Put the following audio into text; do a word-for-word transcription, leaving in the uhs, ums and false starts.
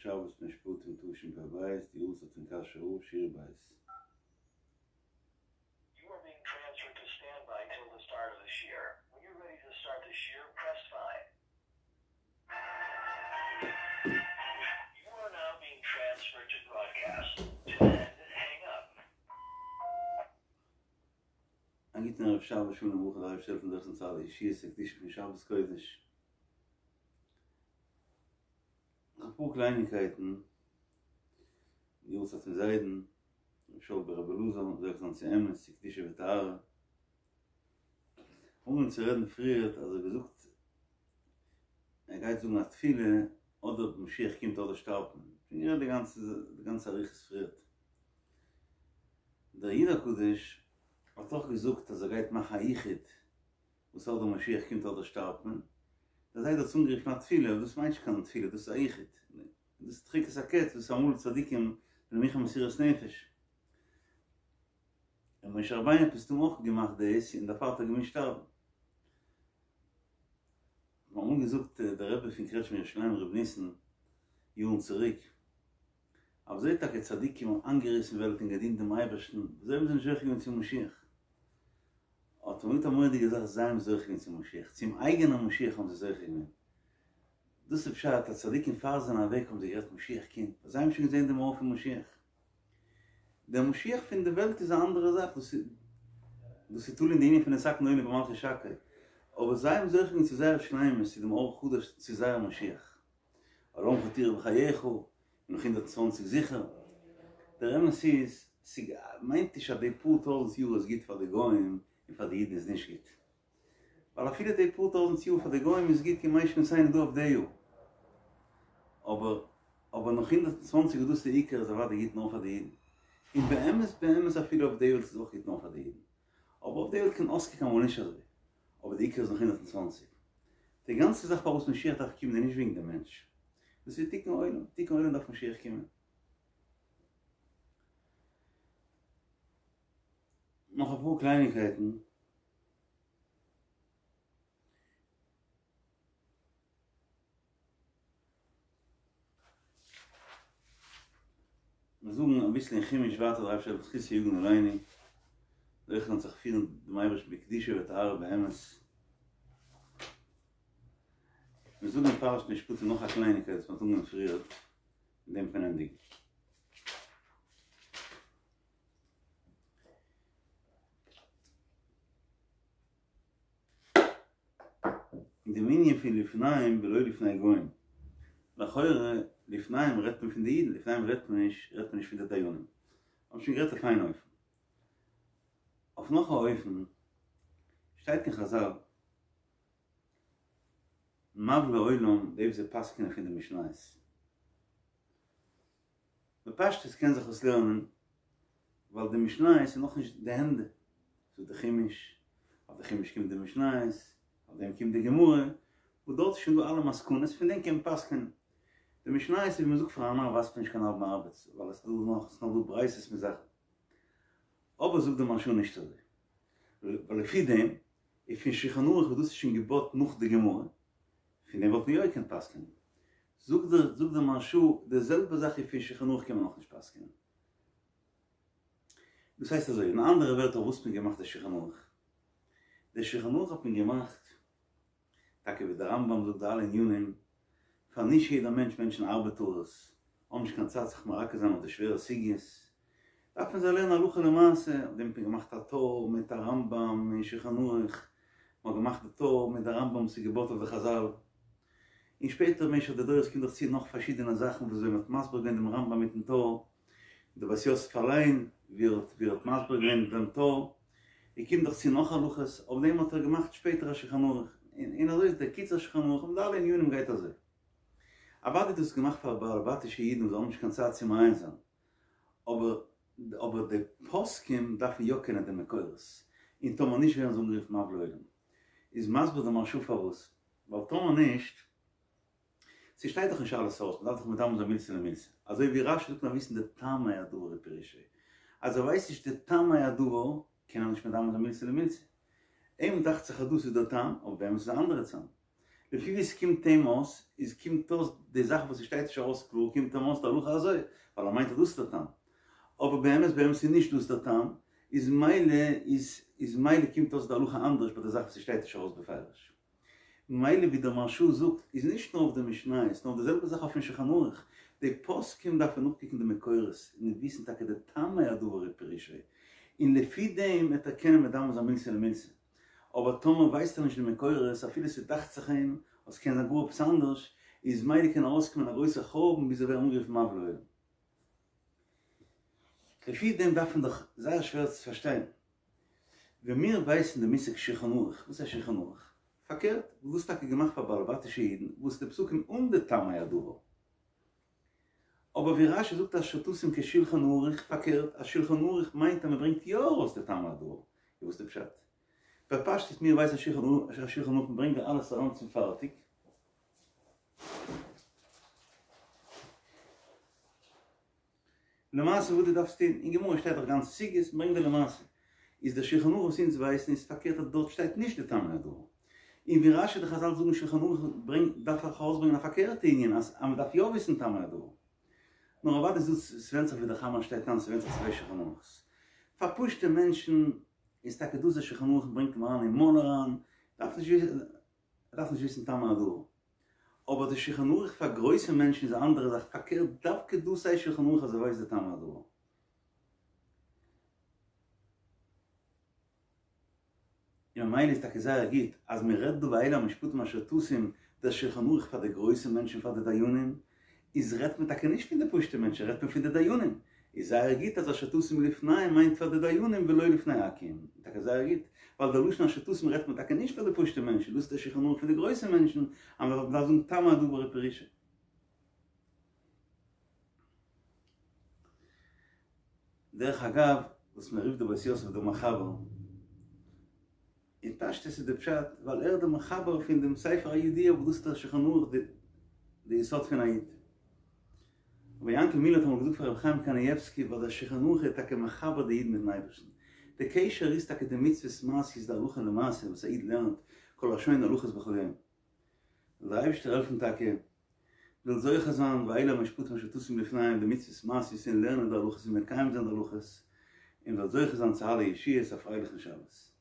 שבת משפטים תשפ"ב, די יארצייט פון קאשוי רב, שיעור ב'. You are being transferred to standby till the start of the shiur. When you're ready to start the shiur, press five. You are now being transferred to broadcast. To end, hang up. א גוטן ערב שבת שלום וברכה דער אייבערשטער העלפן זוכה זיין צו אלע ישועות וקדושה פון שבת קודש. נאך אפאר קלייניקייטן, די יארצייט פון זיידן, ר' שאול ב ר אלעזר, זוכה זיין צו אמת, צו קדושה וטהרה. אנגעהויבן צו רעדן פריערט אז ער האט געזאגט ער גייט זאגן א תפילה אדער משיח קומט אדער שטארבט מען. שוין גערעדט די גאנצע די גאנצע אריכות פריערט. דער איד הקדוש האט אויך געזאגט אז ער גייט מאכן א יחוד וואס אדער משיח קומט אדער שטארבט מען. דער זיידע האט עס אנגערופן א תפילה אבער דאס מיינט נישט קיין תפילה דאס איז א יחוד. דאס איז דחיקת הקץ וואס אמאל צדיקים זענען מוכן מסירות נפש. און משה רבינו האט מסתמא אויך געמאכט דאס און דערפאר האט ער געמוזט שטארבן. מיר האבן אמאל געזאגט דער רבי פון קרעטשמע ירושלים ר' ניסן יארן צוריק, אז וויאזוי טאקע צדיקים האבן איינגעריסן וועלט און געדינט דעם אייבערשטן, וויאזוי האבן זיי נישט זוכה געווען צום משיח? האט ער געזאגט א מורא'דיגע זאך, זיי האבן זוכה געווען צום משיח, צום אייגענעם משיח האבן זיי זוכה געווען. דאס איז פשט אז צדיקים פאר זיי זענען אוועק האבן זיי גערעדט משיח קומט, ווייל זיי האבן שוין געזען דעם אור פון משיח. דער משיח פון די וועלט איז א אנדערע זאך, דאס איז דאס איז תלוי אין די ענין פון נתקן עולם במלכות שקי, אבער זיי האבן זוכה געווען צו זייער שלימות, צו דעם אור חדש, צו זייער משיח. עולמך תראה בחייך, און נאך הונדערט צוואַנציק זיכער. דער אמת איז, ס'מיינט נישט אז די פאר טויזנט יאר איז גוט פאר די גוים און פאר די אידן איז נישט גוט. ווייל אפילו די פאר טויזנט יאר פאר די גוים איז גוט כימי שנותינו דא אויף די יאר, אבער אבער נאך הונדערט און צוואנציג וואס דאס איז די עיקר איז אוודאי גוט נאר פאר די אידן, און באמת באמת אפילו אויף די וועלט איז אויך גוט נאר פאר די אידן, אבער אויף די וועלט קען אויסקוקן אמאל נישט אזוי, אבער די עיקר איז נאך הונדערט און צוואנציג. די גאנצע זאך פארוואס משיח דארף קומען איז נישט וועגן די מענטש, דאס איז תיקון עולם, תיקון עולם דארף משיח קומען. נאך אפאר קלייניקייטן. מיר זאגן אביסל אין חומש ווייטער דער אייבערשטער זאל זכותו יגן עלינו זוכה זיין זיך פירן דעם אייבערשטן בקדושה וטהרה באמת. מיר זאגן אין פרשת משפטים נאך א קלייניקייט וואס מ'האט אנגעהויבן פריער, מיט דעם קען מען ענדיגן. אין דעם ענין פון לפניהם ולא לפני גוים, לכאורה לפניהם רעדט מען פון די אידן, לפניהם רעדט מען נישט, רעדט מען נישט פון די דיינים. האבן שוין גערעדט אויף איין אופן. אויף נאך א אופן שטייט אין חזל, מבלי עולם די וואס זיי פסק'נען פון די משניות. בפשטות קען זיך עס לערנען ווייל די משניות איז נאכנישט די ענדע, ס'איז די חומש, אויף די חומש קומט די משניות, אויף דעם קומט די גמרא, וואס דארט איז שוין דא אלע מסקנות, פון דעם קען מען פסק'נען. די משניות איז ווי מ'זאגט פאר א נאר ווייזט מען נישט קיין האלבן ארבעט, ווייל עס איז דא נאך, עס איז נאך דא ברייתות מיט זאכן. אבער זאגט די מהרשא נישט אזוי, ווייל לפי דעם איז פון שולחן ערוך וואס דאס איז שוין געבויט נאך די גמרא, פון דעם וואלט מען יא געקענט פסק'נען. זאגט דער זאגט דער מהרשא די זעלבע זאך איז פון שולחן ערוך קען מען אויך נישט פסק'נען. דאס הייסט אזוי, אין אנדערע ווערטער וואס האט מען געמאכט די שולחן ערוך? די שולחן ערוך האט מען געמאכט, טאקע ווי דער רמב"ם זאגט די אלע ענינים, פאר נישט יעדער מענטש, מענטשן ארבעטארס האבן נישט קיין צייט זיך מרכז זיין אויף די שווערע סוגיות, דארף מען זיי לערנען הלכה למעשה, אויף דעם האט מען געמאכט א טור מיט א רמב"ם און שולחן ערוך, מען האט געמאכט די טור מיט די רמב"ם וואס איז געבויט אויף די חזל, און שפעטער במשך די דורות קומט דאך צו נאך פארשידענע זאכן וואס ווען מען האט מסביר געווען דעם רמב"ם מיטן טור, די בית יוסף אליין ווי ער האט ווי ער האט מסביר געווען דעם טור, און קומט דאך צו נאך הלכות, אויף דעם האט ער געמאכט שפעטער א שולחן ערוך, און אזוי איז דער קיצור שולחן ערוך, און די אלע ענינים גייט אזוי. אוודאי איז דאס געמאכט פאר בעלי בתישע אידן וואס האבן נישט קיין צייט צו מעיין זיין, אבער אבער די פוסקים דארפן יא קענען די מקורות, און טאמער נישט ווערן זיי אנגערופן מבלי עולם. איז מסביר די מהרש"א פארוואס, ווייל טאמער נישט, ס'שטייט דאך נישט אלעס אויס, מ'דארף דאך מדמה זיין מילתא למילתא, אזוי ווי רש"י זאגט מיר וויסן די טעמי הדבר ופירושו, אז ער ווייסט נישט די טעמי הדבר קען ער נישט מדמה זיין מילתא למילתא, אים דאכט זיך אז דאס איז דער טעם, אבער באמת איז א אנדערע טעם. לפי ווי ס'קומט אים אויס, איז קומט אויס די זאך וואס ס'שטייט נישט ארויס קלאר קומט אים אויס די הלכה אזוי, ווייל ער מיינט אז דאס איז דער טעם. אבער באמת באמת איז נישט דאס דער טעם, איז מילא איז איז מילא קומט אויס די הלכה אנדערש ביי די זאך וואס ס'שטייט נישט ארויס בפירוש. מילא ווי דער מהרש"א זאגט איז נישט נאר אויף די משניות נאר די זעלבע זאך אויפן שולחן ערוך, די פוסקים דארפן נאכקוקן די מקורות און וויסן טאקע די טעמי הדבר ופירושו, און לפי דעם וועט ער קענען מדמה זיין מילתא למילתא, אבער טאמער ווייסט ער נישט די מקורות אפילו ס'דאכט זיך אים אז ס'קען זיין גאר עפעס אנדערש, איז מילא קען ארויסקומען א גרויסע חורבן ביז ער ווערן אנגערופן מבלי עולם. לפי דעם דארף מען דאך זייער שווער צו פארשטיין. ווען מיר ווייסן די מושג שולחן ערוך, וואס הייסט שולחן ערוך? פארקערט, וואס איז טאקע געמאכט פאר בעלי בתישע אידן, וואס די פסקים אן די טעמי הדבר. אבער ווי רש"י זאגט אשר תשים כשולחן ערוך, פארקערט, אז שולחן ערוך מיינט אז מען ברענגט יא ארויס די טעמי הדבר. איז וואס די פשט? בפשטות מיר ווייסן אז שולחן ערוך מען ברענגט דיר אלעס אריין צום פארטיג. למעשה וואס דו דארפסט טון, אין גמרא שטייט דאך גאנצע סוגיות, ברענג די למעשה. איז דער שולחן ערוך וואס אונז ווייסן איז פארקערט אז דארט שטייט נישט די טעמי הדבר. און ווי רש"י די חז"ל זאגן שולחן ערוך ברענגט דארף איך ארויסברענגען א פארקערטע ענין אז אז מ'דארף יא וויסן טעמי הדבר. נאר אוודאי איז דאס ס'ווענדט זיך ווי דער חמרא שטייט איין ס'ווענדט זיך צוויי שולחן ערוך'ס. פאר פשוטע מענטשן איז טאקע דאס דער שולחן ערוך ברענגט אים אריין אין מויל אריין, דארף נישט דארף נישט וויסן טעמי הדבר. אבער די שולחן ערוך פאר גרויסע מענטשן איז א אנדערע זאך, פארקערט דווקא דאס הייסט שולחן ערוך אז ער ווייסט די טעמי הדבר. און ממילא איז טאקע זייער גוט אז מען רעדט דא ואלה המשפטים אשר תשים דער שולחן ערוך פאר די גרויסע מענטשן פאר די דיינים, איז רעדט מען טאקע נישט פון די פשוטע מענטשן רעדט מען פון די דיינים, איז זייער גוט אז אשר תשים לפניהם מיינט פאר די דיינים ולא לפני עכו"ם, טאקע זייער גוט, ווייל די לשון אשר תשים רעדט מען טאקע נישט פאר די פשוטע מענטשן, דאס איז דער שולחן ערוך פון די גרויסע מענטשן, אז מען דארף זאגן טעמי הדבר ופירושו. דרך אגב, וואס מען רופט די בית יוסף דער מחבר, אין פשטות איז די פשט ווייל ער איז דער מחבר פון דעם ספר הידוע וואס דאס איז דער שולחן ערוך די יסוד פון א איד. רבי יענקל מילער האט אמאל געזאגט פאר רבי חיים קנייבסקי ווייל דער שולחן ערוך איז טאקע מחבר די איד מיטן אייבערשטן. די קשר איז טאקע די מצוות מעשיות די הלכה למעשה וואס א איד לערנט כל השונה הלכות בכל יום. זאל דער אייבערשטער העלפן טאקע מ'זאל זוכה זיין ואלה המשפטים אשר תשים לפניהם די מצוות מעשיות און לערנען די הלכות און מקיים זיין די הלכות און מ'זאל זוכה זיין צו אלע ישועות א פרייליכן שבת.